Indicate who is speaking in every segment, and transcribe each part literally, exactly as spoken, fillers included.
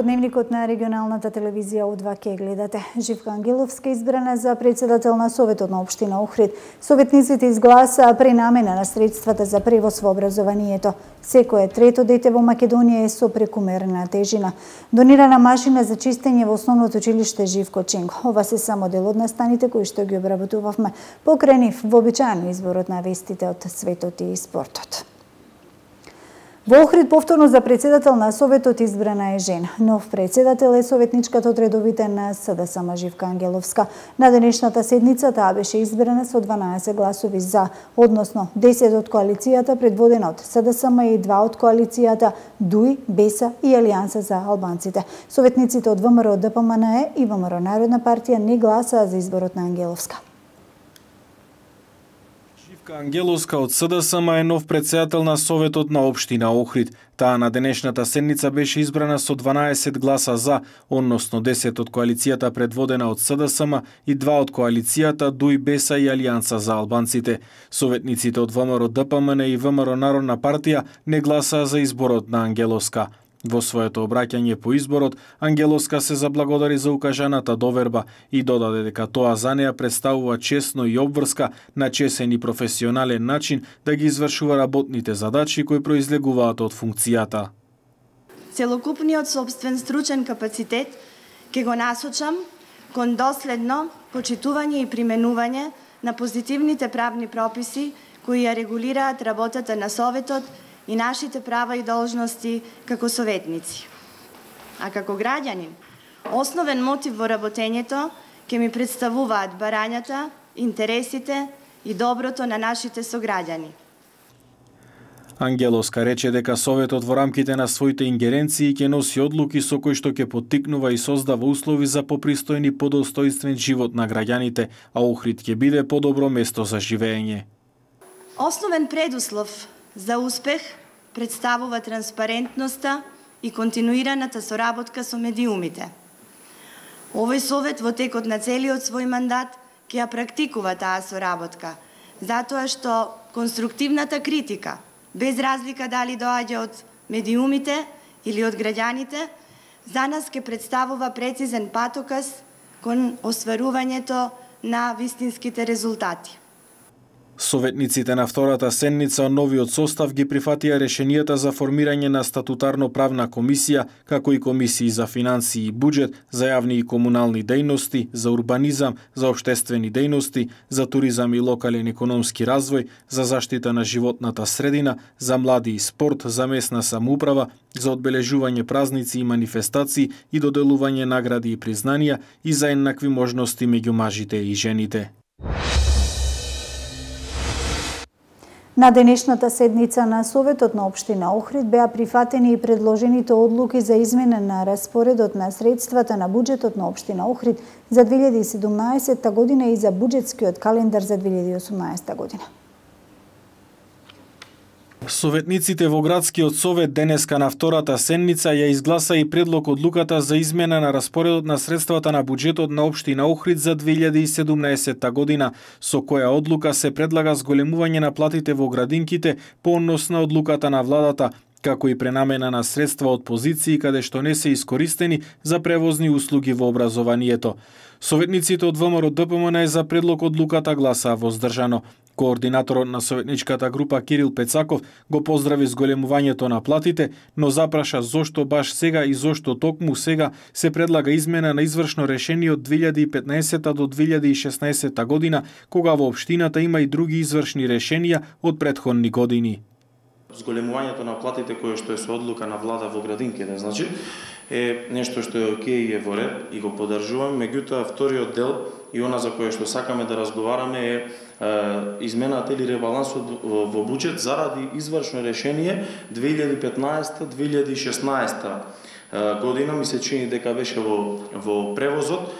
Speaker 1: Подневникот на регионалната телевизија О два ке гледате. Живка Ангеловска избрана за председател на Советот на општина Охрид. Советниците изгласаа пренамена на средствата за превоз во образованието. Секое трето дете во Македонија е со прекумерна тежина. Донирана машина за чистење во основното училиште Живко Ченко. Ова се само дел од настаните кои што ги обработувавме покрај нив вообичаено изборот на вестите од светот и спортот. Во Охрид повторно за председател на Советот избрана е жена. Нов председател е советничката од редовите на СДСМ Живка Ангеловска. На денешната седница таа беше избрана со дванаесет гласови за, односно десет од коалицијата предводена од СДСМ и два од коалицијата ДУИ, БЕСА и Алијанса за албанците. Советниците од ВМРО ДПМНЕ и ВМРО Народна партија не гласаа за изборот на Ангеловска.
Speaker 2: Живка Ангеловска од СДСМ е нов председател на Советот на општина Охрид. Таа на денешната седница беше избрана со дванаесет гласа за, односно десет од коалицијата предводена од СДСМ и два од коалицијата ДУИ, БЕСА и Алијанса за албанците. Советниците од ВМРО ДПМН и ВМРО Народна партија не гласаа за изборот на Ангеловска. Во своето обраќање по изборот, Ангеловска се заблагодари за укажаната доверба и додаде дека тоа за неа представува чесно и обврска на чесен и професионален начин да ги извршува работните задачи кои произлегуваат од функцијата.
Speaker 3: Целокупниот собствен стручен капацитет ќе го насочам кон доследно почитување и применување на позитивните правни прописи кои ја регулираат работата на Советот и нашите права и должности како советници. А како граѓанин, основен мотив во работењето ќе ми представуваат барањата, интересите и доброто на нашите сограѓани.
Speaker 2: Ангеловска рече дека Советот во рамките на своите ингеренции ќе носи одлуки со кои што ќе поттикнува и создава услови за попристојни и подостојствен живот на граѓаните, а Охрид ќе биде подобро место за живење.
Speaker 3: Основен предуслов за успех представува транспарентноста и континуираната соработка со медиумите. Овој Совет во текот на целиот свој мандат ќе ја практикува таа соработка, затоа што конструктивната критика, без разлика дали доаѓа од медиумите или од граѓаните, за нас ќе представува прецизен патоказ кон остварувањето на вистинските резултати.
Speaker 2: Советниците на втората седница од новиот состав ги прифатија решенијата за формирање на статутарно-правна комисија, како и комисии за финансии и буџет, за јавни и комунални дејности, за урбанизам, за општествени дејности, за туризам и локален економски развој, за заштита на животната средина, за млади и спорт, за местна самоуправа, за одбележување празници и манифестации и доделување награди и признанија и за еднакви можности меѓу мажите и жените.
Speaker 1: На денешната седница на Советот на општина Охрид беа прифатени и предложените одлуки за измена на распоредот на средствата на буџетот на општина Охрид за две илјади и седумнаесетта година и за буџетскиот календар за две илјади и осумнаесетта година.
Speaker 2: Советниците во Градскиот совет денеска на втората седница ја изгласа и предлог одлуката за измена на распоредот на средствата на буџетот на општина Охрид за две илјади и седумнаесетта година, со која одлука се предлага зголемување на платите во градинките по однос на одлуката на владата, како и пренамена на средства од позиции каде што не се искористени за превозни услуги во образованието. Советниците од ВМРО ДПМН за предлог одлуката гласаа воздржано. Координаторот на советничката група Кирил Пецаков го поздрави зголемувањето на платите, но запраша зошто баш сега и зошто токму сега се предлага измена на извршно решение од две илјади и петнаесетта до две илјади и шеснаесетта година, кога во општината има и други извршни решенија од претходни години.
Speaker 4: Зголемувањето на платите кое што е со одлука на влада во градинките, значи, е нешто што е окей и е во ред и го поддржувам, меѓутоа вториот дел и она за кое што сакаме да разговараме е, е измената или ребалансот во буџет заради извршно решение две илјади и петнаесетта - две илјади и шеснаесетта година, ми се чини дека беше во во превозот.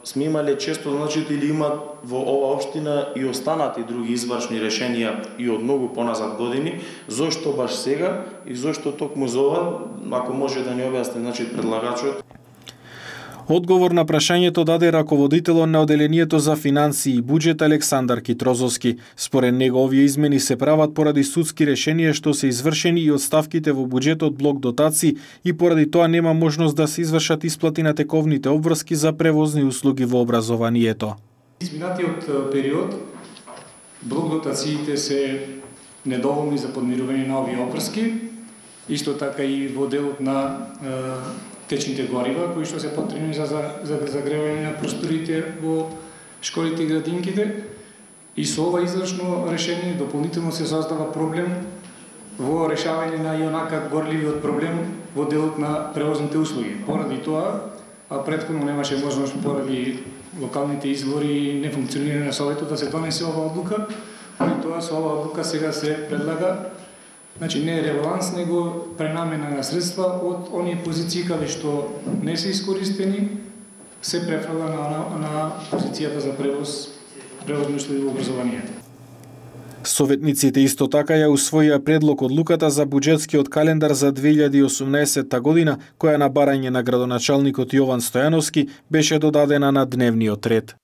Speaker 4: Сме имале често, значи, или има во ова општина и останати други извршни решенија и од многу поназад години, зошто баш сега и зошто токму за ова, ако може да ни објасни, значи, предлагачот.
Speaker 2: Одговор на прашањето даде раководителот на Оделението за финансии и буџет Александар Китрозовски. Според него овие измени се прават поради судски решенија што се извршени и одставките во буџетот блок дотации и поради тоа нема можност да се извршат исплати на тековните обврски за превозни услуги во образованието.
Speaker 5: Изминатиот период блок дотациите се недоволни за подмирување на овие обврски, исто така и во делот на течните горива, кои што се потребни за, за, за загревање на просторите во школите и градинките. И со ова извршно решение дополнително се создава проблем во решавање на ионака горливиот проблем во делот на превозните услуги. Поради тоа, а претходно немаше можност поради локалните избори и нефункционирање на Советот да се донесе ова одлука, поради тоа со ова одлука сега се предлага, значи не е ребаланс, него пренамена на средства од оние позиции каде што не се искористени, се префрла на, на, на позицијата за превоз, превозни услуги во образованието.
Speaker 2: Советниците исто така ја усвоија предлог одлуката за буџетскиот календар за две илјади и осумнаесетта година, која на барање на градоначалникот Јован Стојановски беше додадена на дневниот ред.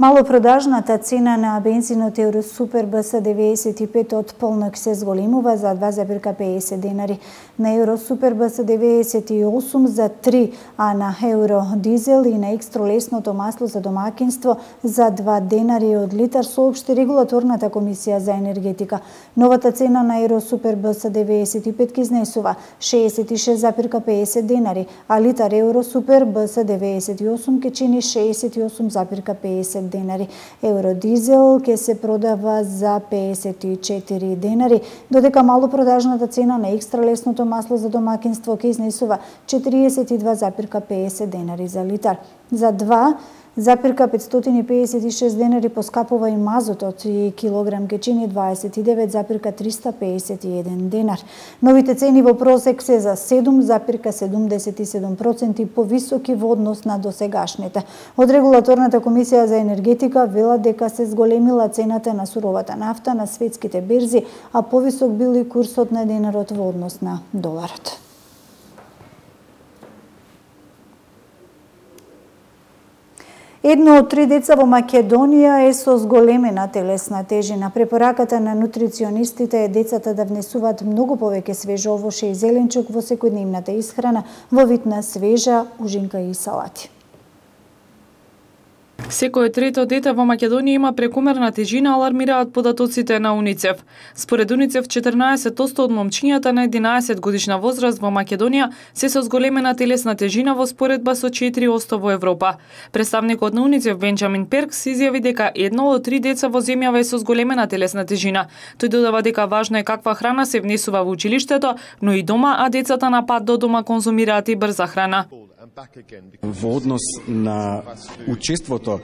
Speaker 1: Малопродажната цена на бензинот Евросупер Б С деветдесет и пет од полнок се зголемува за два запирка педесет денари, на Евросупер Б С деветдесет и осум за три, а на Евродизел и на екстролесното масло за домакинство за два денари од литар, соопшти регулаторната комисија за енергетика. Новата цена на Евросупер Б С деветдесет и пет ки изнесува шеесет и шест запирка педесет денари, а литар Евросупер Б С деветдесет и осум ке чини шеесет и осум запирка педесет денари. Евродизел ќе се продава за педесет и четири денари, додека малопродажната цена на екстралесното масло за домакинство ќе изнесува четириесет и два запирка педесет денари за литар. За два запирка петстотини и педесет и шест денари поскапува и мазотот и килограм ке чини дваесет и девет запирка триста педесет и еден денар. Новите цени во просек се за седум запирка седумдесет и седум проценти повисоки во однос на досегашните. Од регулаторната комисија за енергетика велат дека се зголемила цената на суровата нафта на светските берзи, а повисок бил и курсот на денарот во однос на доларот. Едно од три деца во Македонија е со зголемена телесна тежина. Препораката на нутриционистите е децата да внесуваат многу повеќе свежо овоше и зеленчук во секојдневната исхрана во вид на свежа ужинка и салати.
Speaker 6: Секој трето дете во Македонија има прекомерна тежина, алармираат податоците на УНИЦЕФ. Според УНИЦЕФ, четрнаесет одсто од момчињата на единаесет годишна возраст во Македонија се со зголемена телесна тежина во споредба со четири одсто во Европа. Представникот на УНИЦЕФ Бенџамин Перкс изјави дека едно од три деца во земјава е со зголемена телесна тежина. Тој додава дека важно е каква храна се внесува во училиштето, но и дома, а децата на пат до дома конзумираат и брза храна.
Speaker 7: Во однос на учеството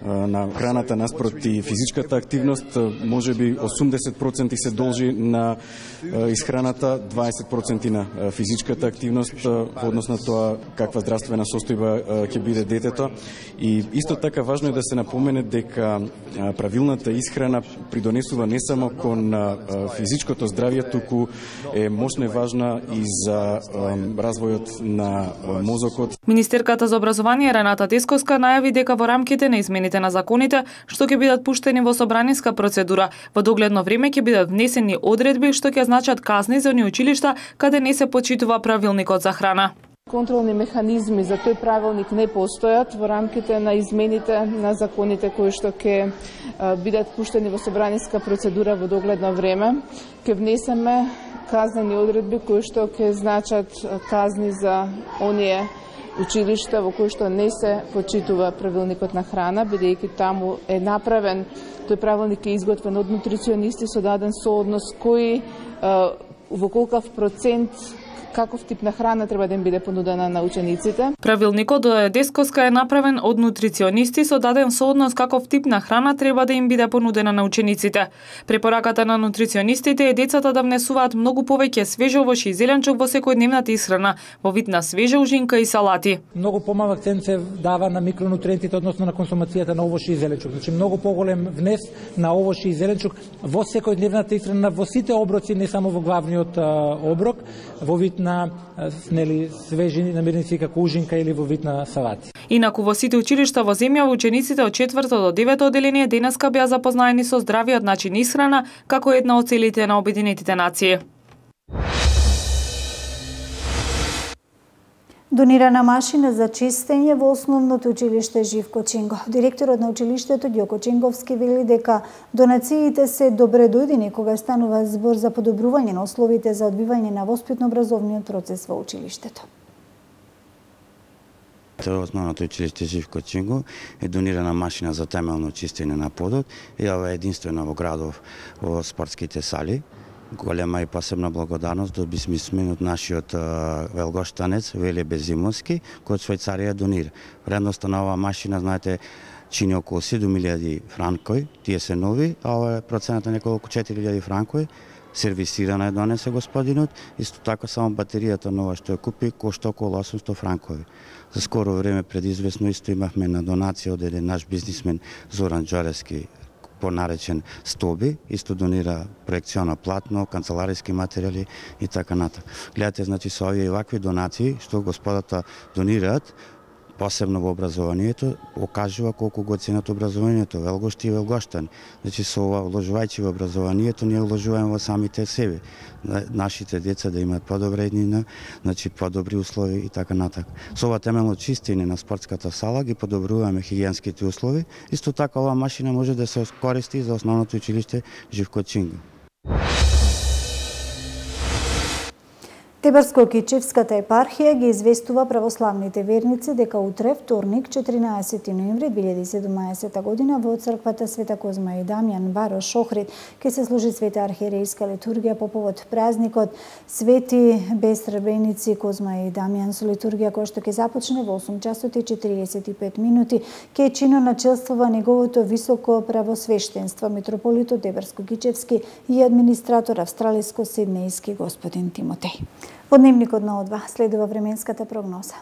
Speaker 7: на храната наспроти физичката активност, може би осумдесет проценти се должи на исхраната, дваесет проценти на физичката активност во однос на тоа каква здравствена состојба ќе биде детето. И исто така важно е да се напомене дека правилната исхрана придонесува не само кон физичкото здравје, туку е мощно важна и за развојот на мозокот.
Speaker 6: Министерката за образование Рената Тесковска најави дека во рамките на измените на законите што ќе бидат пуштени во собраниска процедура, во догледно време ќе бидат внесени одредби што ќе значат казни за оние училишта каде не се почитува правилникот за храна.
Speaker 8: Контролни механизми за тој правилник не постојат во рамките на измените на законите кои што ќе бидат пуштени во собраниска процедура во догледно време. Ќе внесеме казнени одредби кои што ќе значат казни за оние училишта во кои што не се почитува правилникот на храна, бидејќи таму е направен, тој правилник е изготвен од нутриционисти со даден сооднос кој во колкав процент каков тип на храна треба да им биде понудена на учениците.
Speaker 6: Правилникот од Десковска е направен од нутриционисти со даден сооднос каков тип на храна треба да им биде понудена на учениците. Препораката на нутриционистите е децата да внесуваат многу повеќе свежо овоше и зеленчук во секојдневната исхрана, во вид на свежа ужинка и салати.
Speaker 9: Многу помалку акцент се дава на микронутриентите односно на консумацијата на овоше и зеленчук. Значи многу поголем внес на овоше и зеленчук во секојдневната исхрана, во сите оброци, не само во главниот оброк, во вид на нели свежи намирници како ужинка или во вид на салати.
Speaker 6: Инаку во сите училишта во земјава учениците од четврто до девето одделение денеска беа запознаени со здравиот начин исхрана како една од целите на Обединетите нации.
Speaker 1: Донирана машина за чистење во основното училиште Живко Чинго. Директорот на училиштето Ѓоко Чинговски вели дека донациите се добре дојдени кога станува збор за подобрување на условите за одбивање на воспитно-образовниот процес во училиштето.
Speaker 10: Основното училиште Живко Чинго е донирана машина за темелно чистење на подот и ова е единствено во градов во спортските сали. Голема и посебна благодарност доби сме од нашиот велгоштанец Веле Безимовски, кој од Швајцарија донира. Вредноста на оваа машина, знаете, чини околу седум илјади франкови, тие се нови, а ова е процената неколку четири илјади франкови. Сервисирана е донесе господинот, исто така само батеријата нова што ја купи кошта околу осумсто франкови. За скоро време пред известно исто имавме на донација од еден наш бизнисмен Зоран Џорески, понаречен Стоби, исто донира проекциона платно, канцелариски материјали и така натаму. Гледате, значи, со овие и вакви донации што господата донираат, посебно во образованието, окажува колку го ценат образованието, велгошти и велгоштани. Значи, со ова, вложувајќи во образованието, ние вложуваме во самите себе. Нашите деца да имаат подобра еднина, значи, подобри услови и така натака. Со ова темелно чистење на спортската сала ги подобруваме хигиенските услови. Исто така, ова машина може да се користи за основното училиште Живко Чинго.
Speaker 1: Тебарско-Кичевската епархија ги известува православните верници дека утре, вторник, четиринаесети ноември две илјади и седумнаесета година, во црквата Света Козма и Дамјан, Барош, Охрид, ќе се служи света архиерејска литургија по повод празникот Свети без сребреници Козма и Дамјан, со литургија која што ќе започне во осум часот и четириесет и пет минути, ќе чино начелствува неговото високо правосвештенство митрополитот Тебарско-Кичевски и администратор австралиско-сиднејски господин Тимотеј. Во дневникот на О два следува временската прогноза.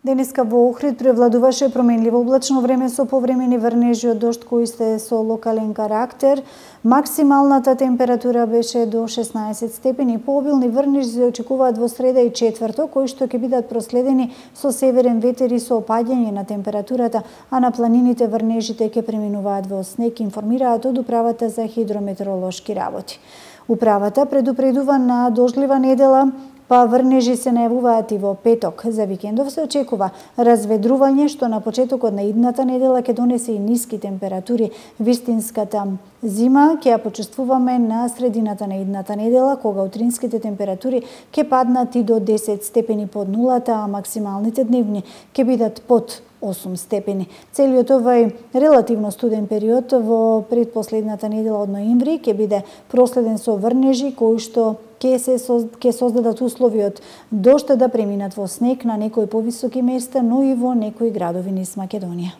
Speaker 1: Денеска во Охрид превладуваше променливо облачно време со повремени врнежи од дожд кои се со локален карактер. Максималната температура беше до шеснаесет степени. Пообилни врнежи се очекуваат во среда и четврток, кои што ќе бидат проследени со северен ветер и со опаѓање на температурата, а на планините врнежите ќе преминуваат во снег, информираат од Управата за хидрометеоролошки работи. Управата предупредува на дождлива недела, па врнежи се најавуваат и во петок. За викендов се очекува разведрување, што на почетокот на идната недела ќе донесе и ниски температури. Вистинската зима ќе ја почувствуваме на средината на идната недела, кога утринските температури ќе паднат и до десет степени под нулата, а максималните дневни ќе бидат под осум степени. Целиот овај релативно студен период во предпоследната недела од ноември ќе биде проследен со врнежи кои што ќе се ќе создадат услови од дожд да преминат во снег на некои повисоки места, но и во некои градови низ Македонија.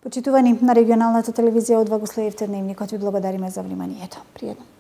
Speaker 1: Почитувани, на регионалната телевизија О два го следевте дневникот. Ви благодариме за вниманието. Пријатно.